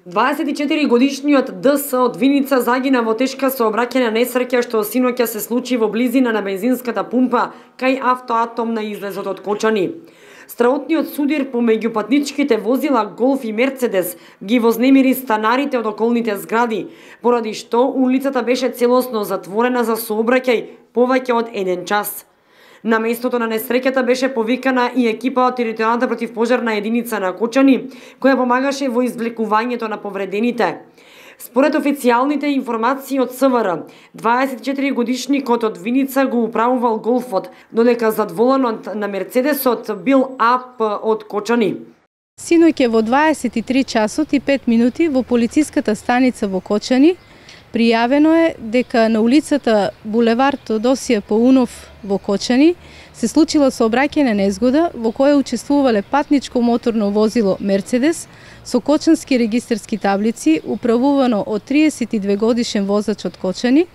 24-годишниот ДС од Виница загина во тешка сообраќајна несреќа што синоќа се случи во близина на бензинската пумпа кај Автоатом на излезот од Кочани. Страотниот судир помеѓу патничките возила Голф и Мерцедес ги вознемири станарите од околните згради, поради што улицата беше целосно затворена за сообраќај повеќе од 1 час. На местото на несреќата беше повикана и екипа од територијалната противпожарна единица на Кочани, која помагаше во извлекувањето на повредените. Според официјалните информации од СВР, 24-годишникот од Виница го управувал Голфот, додека зад воланот на Мерцедесот бил АП од Кочани. Синоќа во 23 часот и 5 минути во полициската станица во Кочани пријавено е дека на улицата булевар Тодосија Паунов во Кочани се случила сообраќајна незгода во која учествувале патничко моторно возило Мерцедес со кочански регистарски таблици управувано од 32 годишен возач од Кочани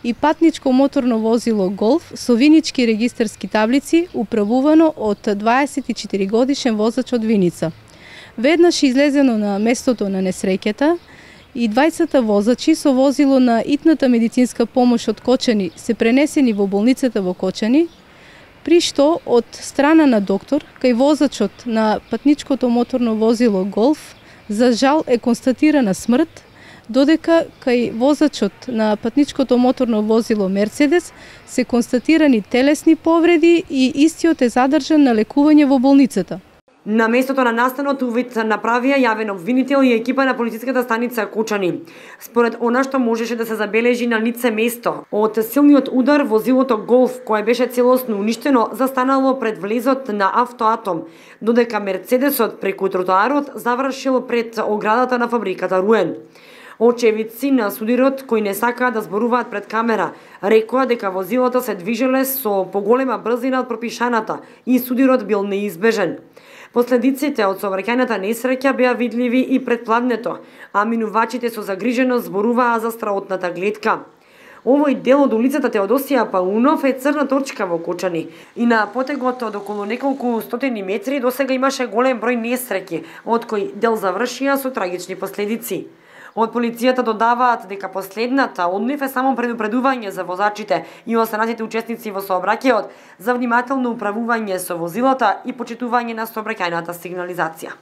и патничко моторно возило Голф со винички регистарски таблици управувано од 24 годишен возач од Виница. Веднаш излезено на местото на несреќата и двајцата возачи со возило на итната медицинска помош од Кочани се пренесени во болницата во Кочани, при што од страна на доктор, кај возачот на патничкото моторно возило Голф, за жал е констатирана смрт, додека кај возачот на патничкото моторно возило Мерцедес се констатирани телесни повреди и истиот е задржан на лекување во болницата. На местото на настанот увид направија јавен обвинител и екипа на полициската станица Кочани. Според она што можеше да се забележи на лице место, од силниот удар возилото Голф, кое беше целосно уништено, застанало пред влезот на Автоатом, додека Мерцедесот преку тротоарот завршил пред оградата на фабриката Руен. Очевидци на судирот, кои не сакаат да зборуваат пред камера, рекоа дека возилото се движеле со поголема брзина од пропишаната и судирот бил неизбежен. Последиците од сообраќајната несреќа беа видливи и пред пладнето, а минувачите со загриженост зборуваа за страотната гледка. Овој дел од улицата Теодосија Паунов е црна точка во Кочани и на потегот од околу неколку стотини метри досега имаше голем број несреќи, од кои дел завршија со трагични последици. Од полицијата додаваат дека последната од нив е само предупредување за возачите и останатите учесници во сообраќајот за внимателно управување со возилата и почитување на сообраќајната сигнализација.